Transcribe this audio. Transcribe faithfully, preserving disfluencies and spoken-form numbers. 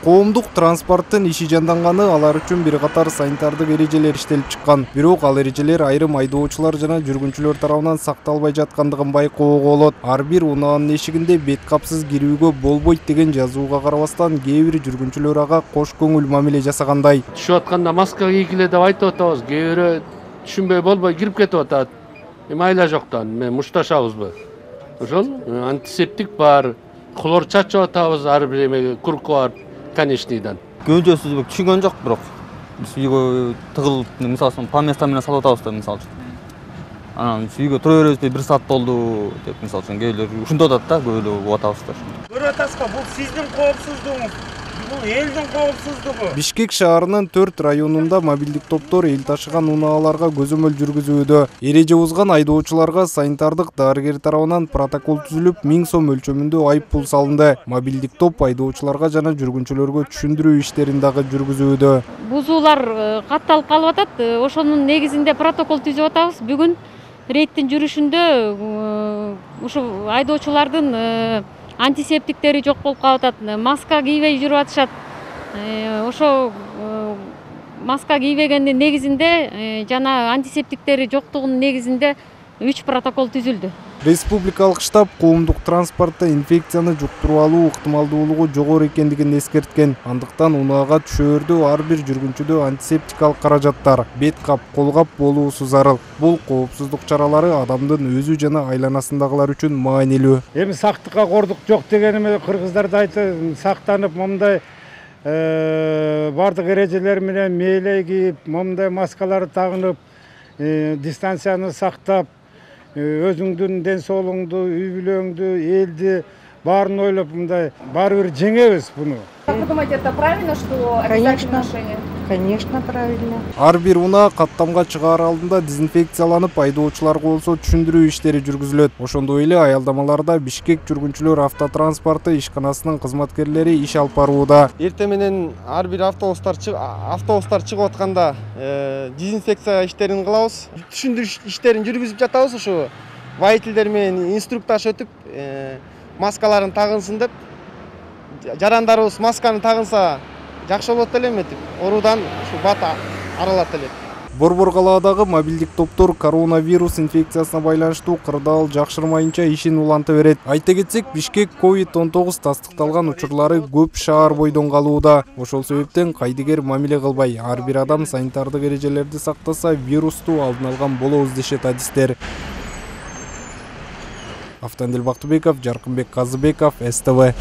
Коомдук транспорттун иши жанданганы алар үчүн бир катар санитардык эрежелер иштелип чыккан. Бирок ал эрежелер айрым айдоочулар жана жүргүнчүлөр тарабынан сакталбай жаткандыгын байкоого болот. Ар бир унаанын эшигинде бет капсыз кирүүгө болбойт деген жазууга карабастан кээ бир жүргүнчүлөр ага кош көңүл мамиле жасагандай. Түшүп атканда маска кийгиле деп айтып атабыз. Кээ бирөө түшүнбөй болбой кирип кетип атат. Эми айла жоктан мен мушташабызбы? Ошол антисептик бар. Хлор чачып атабыз ар бир эмеге, курку бар. Конечныйдан. Көңүлсүз түшүнгөн жок, бирок биз үйгө тыгылып, мисалы үчүн по местам менен салып атабыз да, мисалы үчүн. Анан үйгө тура беребизби, бир саат болду деп, мисалы үчүн кээбилер ушундай атат да, көбөлөө болуп атабыз да. Көрүп атасызбы, бул сиздин коопсуздугуңуз, бул элдин коопсуздугу. Бишкек шаарынын төрт районунда мобилдик топтор эл ташыган унааларга көзөмөл жүргүзүүдө. Эреже бузган айдоочуларга санитардык дарыгер тарабынан протокол түзүлүп, миң сом өлчөмүндө айып пул салынды. Мобилдик топ айдоочуларга жана жүргүнчүлөргө түшүндүрүү иштерин дагы жүргүзүүдө. Бузуулар катталып калып атат. Ошонун негизинде протокол түзүп атабыз. Бүгүн рейдтин жүрүшүндө ушу айдоочулардын антисептиктери жок болуп калып атат. Маска кийбей жүрүп атышат. Ошо маска кийбегендин негизинде жана антисептиктери жоктугунун негизинде үч протокол түзүлдү. Республикалык штаб коомдук транспортто инфекцияны жуктуруп алуу ыктымалдуулугу жогору экендигин эскерткен. Андыктан унаага түшөөрдө ар бир жүргүнчүдө антисептикалык каражаттар, бет кап, кол кап болуусу зарыл. Бул коопсуздук чаралары адамдын өзү жана айланасындагылар үчүн маанилүү. Эми сактыкка кордук жок дегениме кыргыздар да айтты, сактанып, момундай бардык эрежелер менен мээлей кийип, момундай маскаларды тагынып, дистанцияны сактап, өзүңдүн ден соолугуңду, үй бүлөңдү, элди баарын ойлоп, мындай баары бир жеңебиз буну. Как вы думаете, это правильно, что обязательное ношение? Конечно, правильно. Ар бир унаа каттамга чыгаар алдында дезинфекцияланып, айдоочуларга болсо түшүндүрүү иштери жүргүзүлөт. Ошондой эле аялдамаларда Бишкек жүргүнчүлөр автотранспорты ишканасынын кызматкерлери иш алып барууда. Эртең менен ар бир автобустар автобустар чыгып атканда дезинфекция иштерин кылабыз. Түшүндүрүү иштерин жүргүзүп жатабыз. Ушу водительдер менен инструктаж өтүп, маскаларын тагынсын деп, жарандарыбыз масканы тагынса жакшы болот эле эметип, оруудан ушу бат аралат элек. Борбор калаадагы мобилдик топтор коронавирус инфекциясына байланыштуу кырдаал жакшырмайынча ишин уланта берет. Айта кетсек, Бишкек ковид он тогуз тастыкталган учурлары көп шаар бойдон калууда. Ошол себептен кайдыгер мамиле кылбай, ар бир адам санитардык эрежелерди сактаса, вирусту алдын алган болобуз дешет адистер. Автандил Бактыбеков, Жаркынбек Казыбеков, эс тэ вэ.